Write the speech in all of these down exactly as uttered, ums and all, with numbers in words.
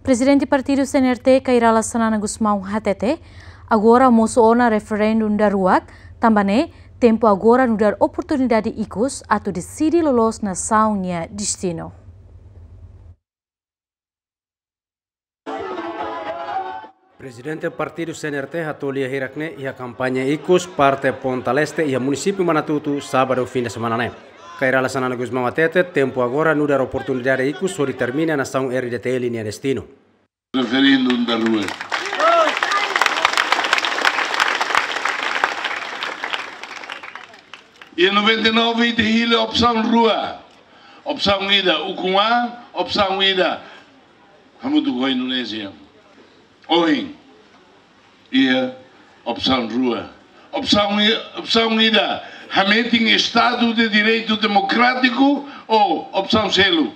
Prezidente Partidu C N R T, Kay Rala Xanana Gusmão hatete, agora mosu ona referendum daruak, tanba ne'e tempu agora nu'udar oportunidade ikus atu deside loloos nasaun nia destinu. Prezidente Partidu C N R T hato'o lia hirak-ne'e iha kampaña ikus parte Ponta Leste iha munisípiu Manatutu, sábadu fin de semana ne'e. Kay Rala Xanana Gusmão hatete, tempu agora nu'udar oportunidade ikus hodi determina nasaun R D T L nia destinu. Referendum daruak. Iha noventa e nove ita hili opsaun rua. Opsaun ida ukun an, opsaun ida hamutuk ho Indonézia. Ohin iha opsaun rua. Opsaun i-, opsaun ida hametin Estadu de Direitu Demokrátiku ou opsaun seluk,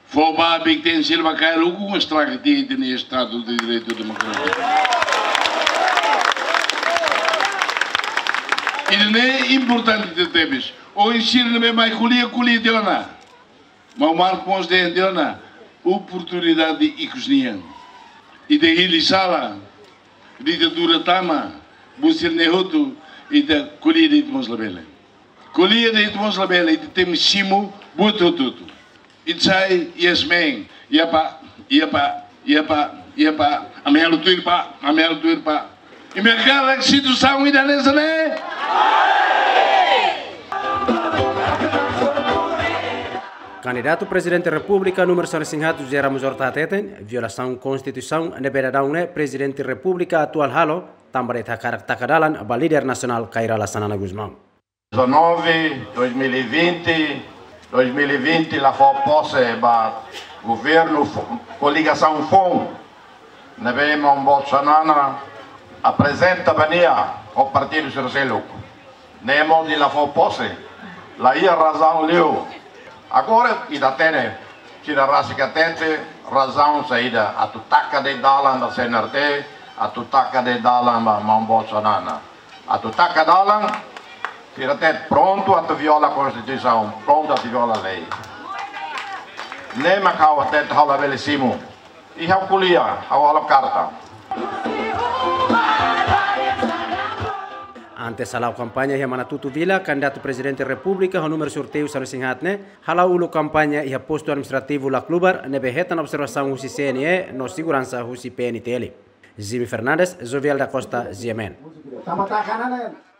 fó ba Bikten Silva Kail ukun estraga tiha ita-nia Estadu de Direitu Demokrátiku. Ida-ne'e importante tebes. Ohin sira ne'ebé mai ko'alia, ko'alia tiha ona. Maun Marcos dehan tiha ona, oportunidade ikus nian. Ita hili sala, ditadura tama, buat sira-ne'e hotu, ita ko'alia de'it mós labele. Ko'alia de'it mós labele, ita tenke simu buat hotu-hotu. Ita sai yes man, iya pak, iya pak, iya pak, iya pak, ami halo tuir pak, ami halo tuir pak. Imi hakarak situasaun ida hanesan ne'e? Kandidatu Prezidente Repúblika númeru sanulu-resin-haat José Ramos Horta hateten, violasaun Konstituisaun ne'ebé daudaun ne'e Prezidente Repúblika atuál halo, tanba de'it hakarak taka dalan ba líder nasionál Kay Rala Xanana Gusmão. Dezanove, dois mil e vinte, dois mil e vinte la fó pose ba governu fo-, koligasaun foun ne'ebé maun boot Xanana aprezenta ba nia ho partidu sira seluk. Ne'e mós nia la fó pose, la iha razaun liu. Agora ita hatene, sira rasik hatete, razaun saida atu taka de'it dalan ba C N R T, atu taka de'it dalan ba maun boot Xanana. Atu taka dalan, sira hatete prontu atu viola Konstituisaun, prontu atu viola lei. Ne'e mak ha'u hatete ha'u labele simu. I ha'u ko'alia, ha'u halo karta. Antes hala'o kampaña iha Manatutu Vila, kandidatu Prezidente Repúblika ho númeru sorteiu sanulu-resin-haat ne'e, hala'o uluk kampaña iha postu administrativu Laclubar, ne'ebé hetan observasaun husi C N E no seguransa husi P N T L. Jimmy Fernandes, Jovial da Costa, G M N. Tama taka nana.